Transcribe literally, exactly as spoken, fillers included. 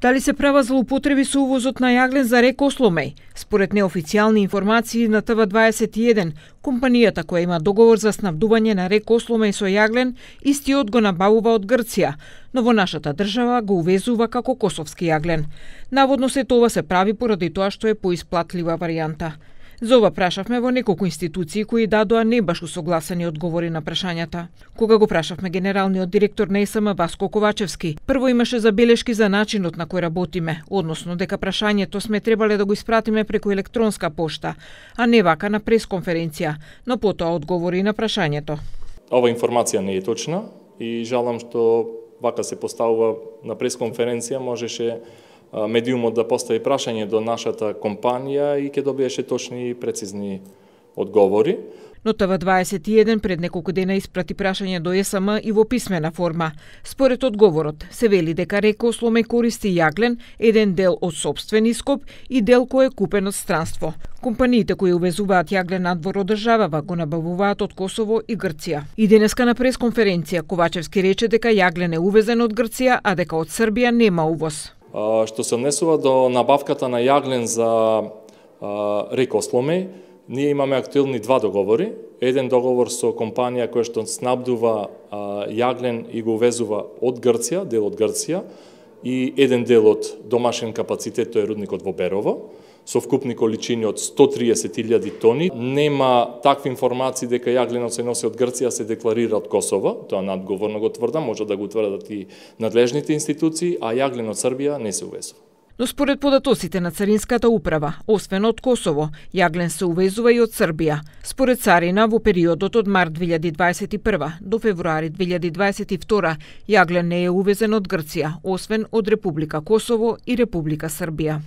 Дали се права злоупотреби со увозот на јаглен за река Осломеј? Според неофицијални информации на Т В дваесет и еден, компанијата која има договор за снабдување на река Осломеј со јаглен, истиот го набавува од Грција, но во нашата држава го увезува како косовски јаглен. Наводно се тоа се прави поради тоа што е поисплатлива варијанта. За ова прашавме во неколку институции кои дадоа не баш усогласени одговори на прашањата. Кога го прашавме генералниот директор на Е С М Васко Ковачевски, прво имаше забелешки за начинот на кој работиме, односно дека прашањето сме требале да го испратиме преку електронска пошта, а не вака на пресконференција, но потоа одговори на прашањето. Ова информација не е точна и жалам што вака се поставува на пресконференција, можеше медиумот да постави прашање до нашата компанија и ќе добиеше точни и прецизни одговори. Но Т В дваесет и еден пред неколку дена испрати прашање до Е С М и во писмена форма. Според одговорот, се вели дека река Осломеј користи јаглен, еден дел од сопствен ископ и дел кој е купен од странство. Компаниите кои увезуваат јаглен надвор од државава го набавуваат од Косово и Грција. И денеска на пресконференција Ковачевски рече дека јаглен е увезен од Грција, а дека од Србија нема увоз. Што се однесува до набавката на јаглен за река Осломеј, ние имаме актуелни два договори. Еден договор со компанија која што снабдува јаглен и го увезува од Грција, дел од Грција, и еден дел од домашен капацитет, тој е рудникот во Берово, со вкупни количини од сто триесет илјади тони. Нема такви информации дека јагленот се носи од Грција, се декларира од Косово, тоа надговорно го тврдам, може да го тврдат и надлежните институции, а јаглен од Србија не се увезува. Но според податоците на Царинската управа, освен од Косово, јаглен се увезува и од Србија. Според царина, во периодот од март две илјади дваесет и прва до февруари две илјади дваесет и втора, јаглен не е увезен од Грција, освен од Република Косово и Република Србија.